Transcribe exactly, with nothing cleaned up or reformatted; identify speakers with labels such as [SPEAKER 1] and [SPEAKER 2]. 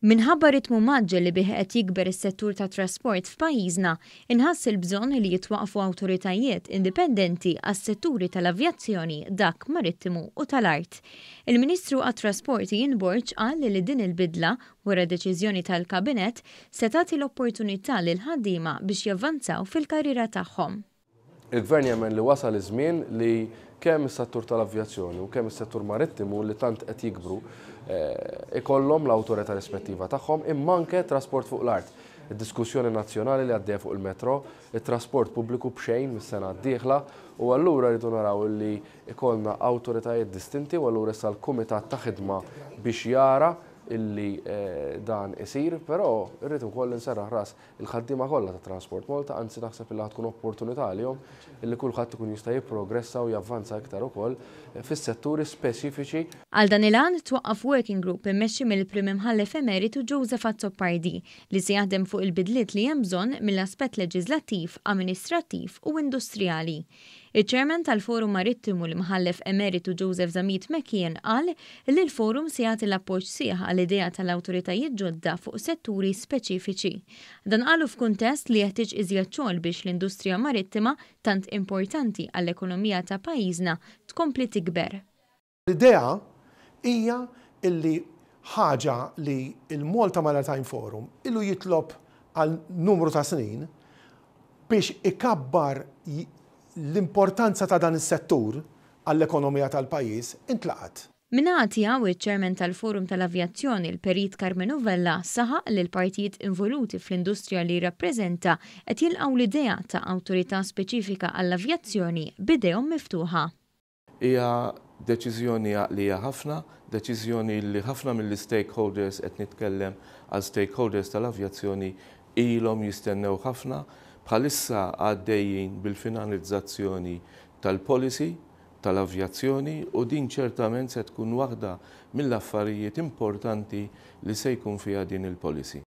[SPEAKER 1] Minħabba ritmu mgħaġġel li bih qed jikber is-settur tat-trasport f'pajjiżna, inħass il-bżonn li jitwaqfu awtoritajiet indipendenti għas-setturi tal-avjazzjoni, dak marittimu u tal-art. Il-Ministru għat-Trasport Ian Borg qal li din il-bidla, wara deċiżjoni tal-Kabinett, se tagħti l-opportunità lil ħaddiema biex javvanzaw fil-karriera tagħhom.
[SPEAKER 2] Il-Gvern jemmen li wasal iż-żmien li kemm is-settur tal-avjazzjoni u kemm is-settur marittimu, li tant qed jikbru, eh, ikollhom l-awtorità rispettiva tagħhom, imma anke trasport fuq l-art. Id-diskussjoni nazzjonali li għaddejja fuq il-metro, it-trasport pubbliku b'xejn mis-sena d-dieħla, u allura rridu naraw li ikollna awtoritajiet distinti, u allura issa l-kumitat ta' ħidma biex jara illi eh, dan isir, però irrid ukoll nserraħ ras il-ħaddiema kollha ta' Transport Malta, anzi naħseb illi tkun opportunità għalihom illi kulħadd ikun jista' jipprogressa u javvanza iktar ukoll fis-setturi speċifiċi.
[SPEAKER 1] Għal dan il-għan twaqqaf working group immexxi mill-Prim Imħallef Emeritu Joseph Azzopardi, li se jaħdem fuq il-bidliet li hemm bżonn mill-aspett leġislattiv, amministrattiv u industrijali. Iċ-Chairman tal-Forum Marittimu, l-Imħallef Emeritu Joseph Zammit McKeon, qal li l-forum se jagħti l-appoġġ sħiħ għall-idea tal-awtoritajiet ġodda fuq setturi speċifiċi. Dan qalu f'kuntest li jeħtieġ iżjed xogħol biex l-industrija marittima, tant importanti għall-ekonomija ta' pajjiżna, tkompli tikber.
[SPEAKER 3] L-idea hija illi ħaġa li il-Malta Maritime Forum ilu jitlob għal numru ta' snin biex ikabbar l-importanza ta' dan is-settur għall-ekonomija tal-pajjiż intlaqat.
[SPEAKER 1] Min-naħa tiegħu, iċ-Chairman tal-Forum tal-Avjazzjoni, l-Perit Carmenu Vella, saħaq li l-partijiet involuti fl-industrija li rappreżenta qed jilqgħu l-idea ta' awtorità speċifika għall-avjazzjoni b'idejhom miftuħa.
[SPEAKER 4] Hija deċiżjoni għaqlija ħafna, deċiżjoni li ħafna mill-stakeholders, qed nitkellem għal stakeholders tal-avjazzjoni, ilhom jistennew ħafna. Bħalissa għaddejjin bil-finalizzazzjoni tal-policy tal-avjazzjoni u din ċertament se tkun waħda mill-affarijiet importanti li se jkun fiha din il-policy.